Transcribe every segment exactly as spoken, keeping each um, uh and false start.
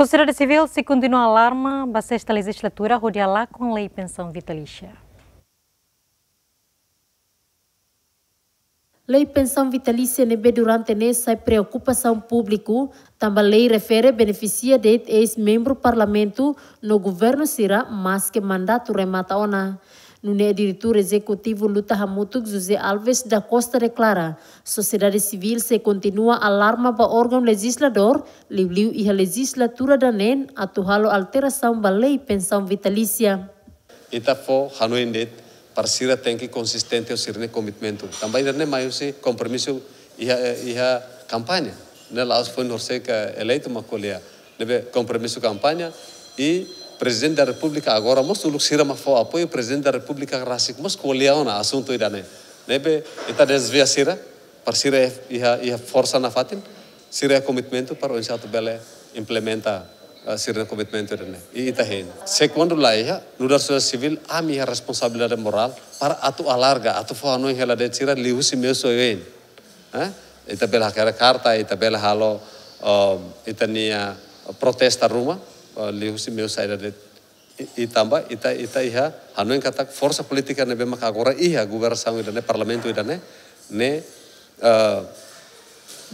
Sosiedade sivíl sei kontinua alarma ba sesta lejizlatura hodi halakon lei pensaun vitalísia. Lei pensaun vitalísia ne'ebé durante ne'e sai preokupasaun públiku, tanba lei refere benefisia de'it eis-membru parlamentu no governu sira maske mandatu remata ona. Nune'e diretór ezekutivu Luta Hamutuk José Alves da Costa deklara, sosiedade sivíl sei kontinua alarma ba órgaun lejizladór, liuliu iha lejizlatura ida-ne'e atu halo alterasaun ba lei pensaun vitalísia. Ita fó hanoin de'it para sira tenke konsistente ho sira-nia komitmentu. Tanba ida-ne'e mai husi kompromisu iha, iha kampaña. Ne'e la'ós foin horisehik eleitu mak ko'alia. Ne'ebé kompromisu kampaña i Prezidente da Repúblika agora mós uluk sira mak fó apoiu Prezidente da Repúblika rasik mós ko'alia ona asuntu ida-ne'e. Ne'ebé ita dezvia sira, para sira iha, iha forsa nafatin, sira iha komitmentu para oinsá atu bele implementa, eh, sira-nia komitmentu ida-ne'e. I ita hein. Se kuandu la iha, nu'udar sosiedade sivíl, ami iha responsabilidade morál para atu alarga, atu fó hanoin hela de'it sira liuhusi meius oioin. Eh? Ita bele hakerek karta, ita bele halo, um, ita-nia protesta ruma, uh, liuhusi meius saida de'it. I, i tanba ita, ita iha hanoin katak forsa polítika ne'ebé maka agora iha governasaun ida-ne'e, parlamentu ida-ne'e, ne'e, eh,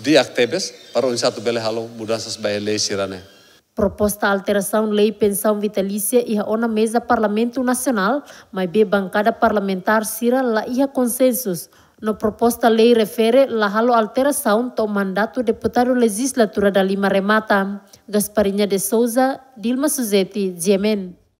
di'ak tebes para oinsá atu bele halo mudansa ba lei sira-ne'e. Proposta alterasaun lei pensaun vitalísia iha ona meza Parlamentu Nasionál, maibé bankada parlamentár sira la iha konsensus. No proposta lei refere la halo alterasaun to'o mandatu deputadu lejizlatura dalima remata. Gasparinha de Souza, Dilma Suzeti, G M N.